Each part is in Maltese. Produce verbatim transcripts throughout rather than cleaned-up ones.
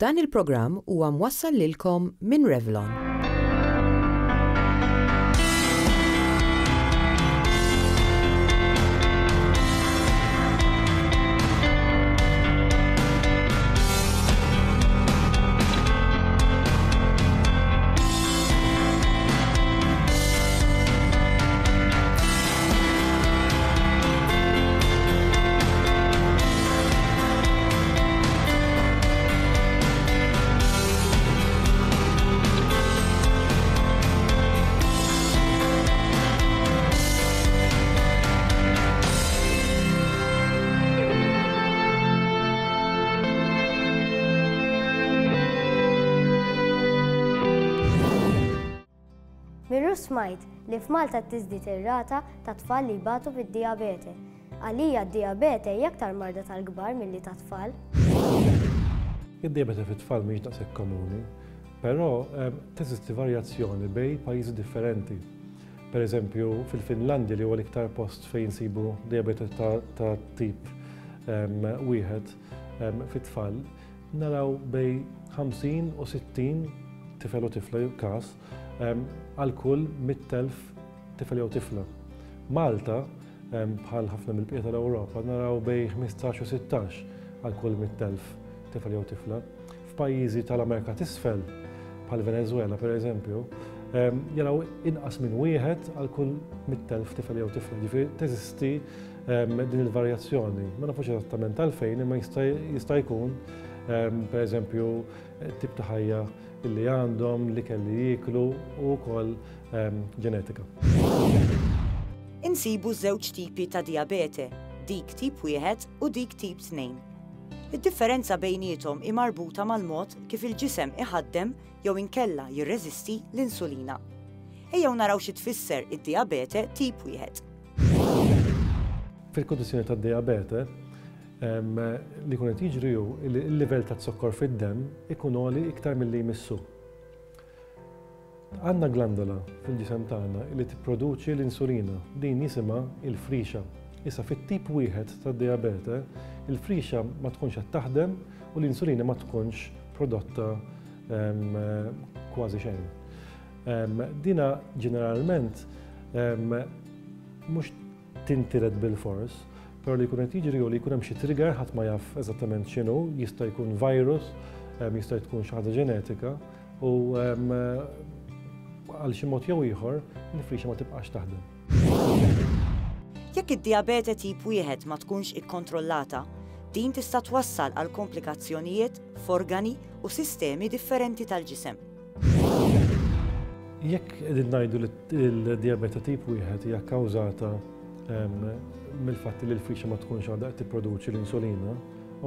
Dan il-programm huwa mwassal lilkom minn Revlon. Mirru smajt li f'Malta tiżdied ir-rata ta' tfal li jbatu bid-dijabete. Għalija d-dijabete hija aktar marda tal-kbar milli ta' tfal. Id-dijabete fit-tfal mhix daqshekk komuni, però teżisti varjazzjoni bejn pajjiżi differenti. Per eżempju, fil-Finlandja li huwa l-iktar post fejn insibu dijabete ta' tip wieħed fit-tfal, naraw bejn ħamsin u sittin tifel u tifla każ għal kull mitt elf tifel jew tifla. Malta, bħal ħafna mill-bqija tal-Ewropa, naraw bejn ħmistax u sittax għal kull mitt elf tifel jew tifla. F'pajjiżi tal-Amerika t'Isfel, bħal Venezuela per eżempju, jaraw inqas minn wieħed għal kull mitt elf tifel jew tifla. Ġifieri teżisti din il-varjazzjoni. Ma nafux eżattament għalfejn, imma jista' jkun per eżempju tip ta' ħajja li għandhom, li kelli jieklu u wkoll ġenetika. Insibu żewġ tipi ta' dijabete, dik tip wieħed u dik tip tnejn. Id-differenza bejniethom hi marbuta mal-mod kif il-ġisem iħaddem jew inkella jirreżisti l-insulina. Ejjew naraw xi tfisser id-dijabete tip wieħed. Fil-kundizzjoni tad-dijabete, li jkun qed jiġri hu li l-livell ta' zokkor fid-demm ikun għoli iktar milli jmissu. Għandna glandola fil-ġisem tagħna li tipproduċi l-insulina, din jisimha il-frixa. Issa fit-tip wieħed tad-dijabete, il-frixa ma tkunx qed taħdem u l-insulina ma tkunx prodotta kważi xejn. Dina ġeneralment mhux tintiret bil-fors, però li jkun qed jiġri hu li jkun hemm xi trigger ħadd ma jaf eżattament x'inhu, jista' jkun virus, jista' tkun xi ħaġa ġenetika u għal xi mod jew ieħor il-frixa ma tibqax taħdem. Jekk id-dijabete tip wieħed ma tkunx ikkontrollata, din tista' twassal għal komplikazzjonijiet f'organi u sistemi differenti tal-ġisem. Jekk qegħdin ngħidu li l-dijabete tip wieħed hija kkawżata mill-fatt li l-frixa ma tkunx għadha qed tipproduċi l-insulina,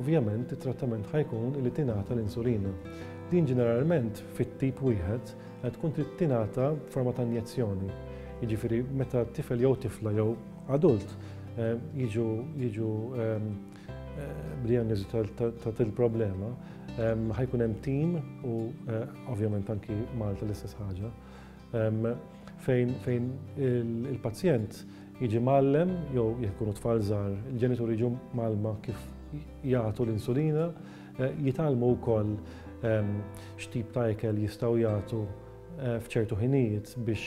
ovvjament it-trattament ħajkun li tingħata l-insulina. Din ġeneralment fit-tip wieħed tkun trid tingħata b'forma ta' injezzjoni. Jiġifieri meta tifel jew tifla jew adult jiġu jiġu b'dijanjosi ta' til-problema, ħajkun hemm tim u ovvjament anki Malta l-istess ħaġa, fejn fejn il-pazjent jiġi mgħallem jew jekk ikunu tfal żgħar, il-ġenituri jiġu mgħallma kif jagħtu l-insulina, jitgħallmu wkoll x'tip ta' ikel jistgħu jagħtu f'ċertu ħinijiet biex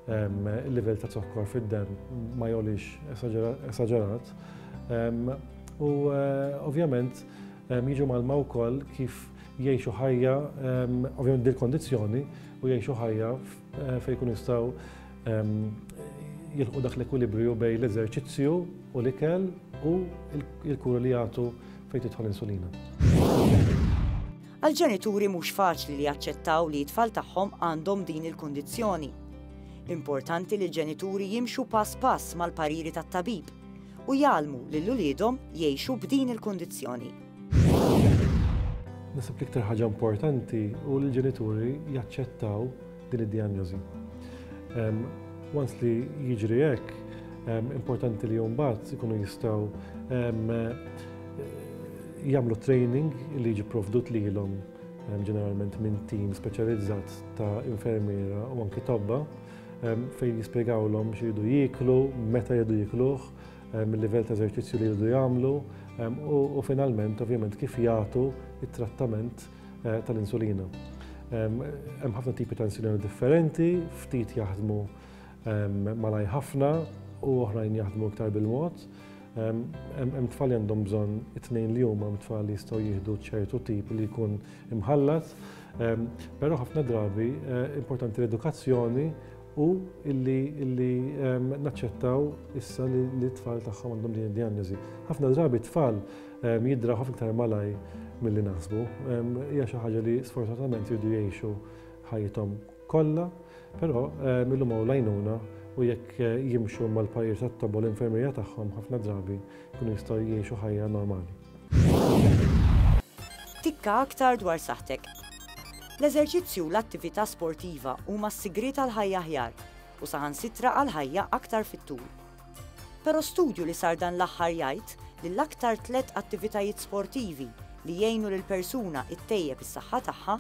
il-livell ta' zokkor fid-demm ma jogħlix esaġerat. U ovvjament jiġu mgħallma wkoll kif jgħixu ħajja, ovvjament dil-kondizzjoni, u jgħixu ħajja fejn jkunu jistgħu jilħqu dak l-ekwilibrju bejn l-eżerċizzju u l-ikel u l-kura li jagħtu fejn tidħol insulina. Għall-ġenituri mhux faċli li jaċċettaw li t-tfal tagħhom għandhom din il-kundizzjoni. Importanti li l-ġenituri jimxu pass pass mal-pariri tat-tabib u jgħallmu lil uliedhom jgħixu b'din il-kundizzjoni. Naħseb l-iktar ħaġa importanti hu li l-ġenituri jaċċettaw din id-dijanjosi. Once li jiġri hekk, importanti li mbagħad ikunu jistgħu jagħmlu training li jiġi provdut lilhom ġeneralment minn tim speċjalizzat ta' infermiera u anki tobba fejn jispjegawlhom x'iridu jieklu, meta jridu jiekluh, il-livell ta' eżerċizzju li jridu jagħmlu u finalment ovvjament kif jagħtu it-trattament tal-insulina. Hemm ħafna tipi ta' insulina differenti, ftit jaħdmu malaj ħafna u oħrajn jaħdmu iktar bil-mod. Hemm tfal li għandhom bżonn it-tnejn li huma, hemm tfal li jistgħu jieħdu ċertu tip li jkun imħallat, però ħafna drabi importanti l-edukazzjoni u illi illi naċċettaw issa li t-tfal tagħhom għandhom din id-dijanjosi. Ħafna drabi t-tfal jidraw ħafna iktar malaj milli naħsbu. Hija xi ħaġa li sfortunatament jridu jgħixu ħajjithom kollha, però illum hawn l-għajnuna u jekk jimxu mal-parir tat-tobba u l-infermierja tagħhom ħafna drabi jkunu jistgħu jgħixu ħajja normali. Tikka aktar dwar saħħtek. L-eżerċizzju u l-attività sportiva huma s-sigriet għal ħajja aħjar u saħansitra għal ħajja aktar fit-tul. Però studju li sar dan l-aħħar jgħid li l-aktar tliet attivitajiet sportivi li jgħinu lil persuna ttejjeb is-saħħa tagħha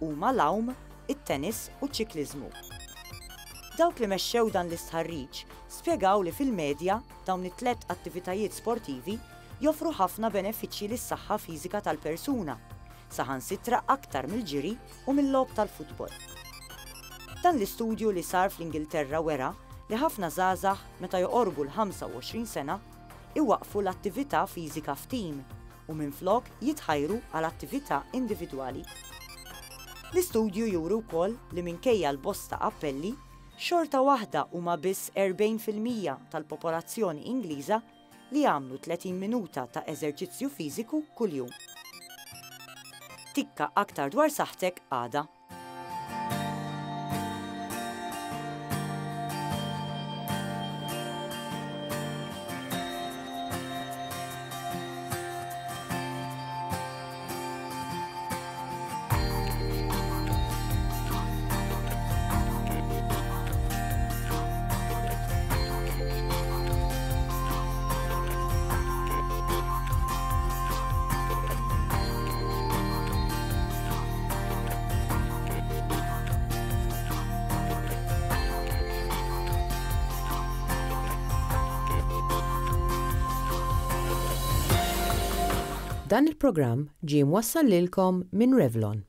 huma l-għawm, it-tennis u ċ-ċikliżmu. Dawk li mexxew dan l-istħarriġ spjegaw li fil-medja dawn it-tliet attivitajiet sportivi joffru ħafna benefiċċji lis-saħħa fiżika tal-persuna, saħansitra aktar mill-ġiri u mill-logħob tal-futbol. Dan l-istudju li sar fl-Ingilterra wera li ħafna żgħażagħ meta joqorbu l-ħamsa u għoxrin sena iwaqfu l-attività fiżika f'tim u minflok jitħajru għal attività individwali. L-istudju juri wkoll li minkejja l-bosta appelli, xorta waħda huma biss erbgħin fil-mija tal-popolazzjoni Ingliża li jagħmlu tletin minuta ta' eżerċizzju fiżiku kuljum. Tikka aktar dwar saħħtek għada. Dan il-programm ġie mwassal lilkom minn Revlon.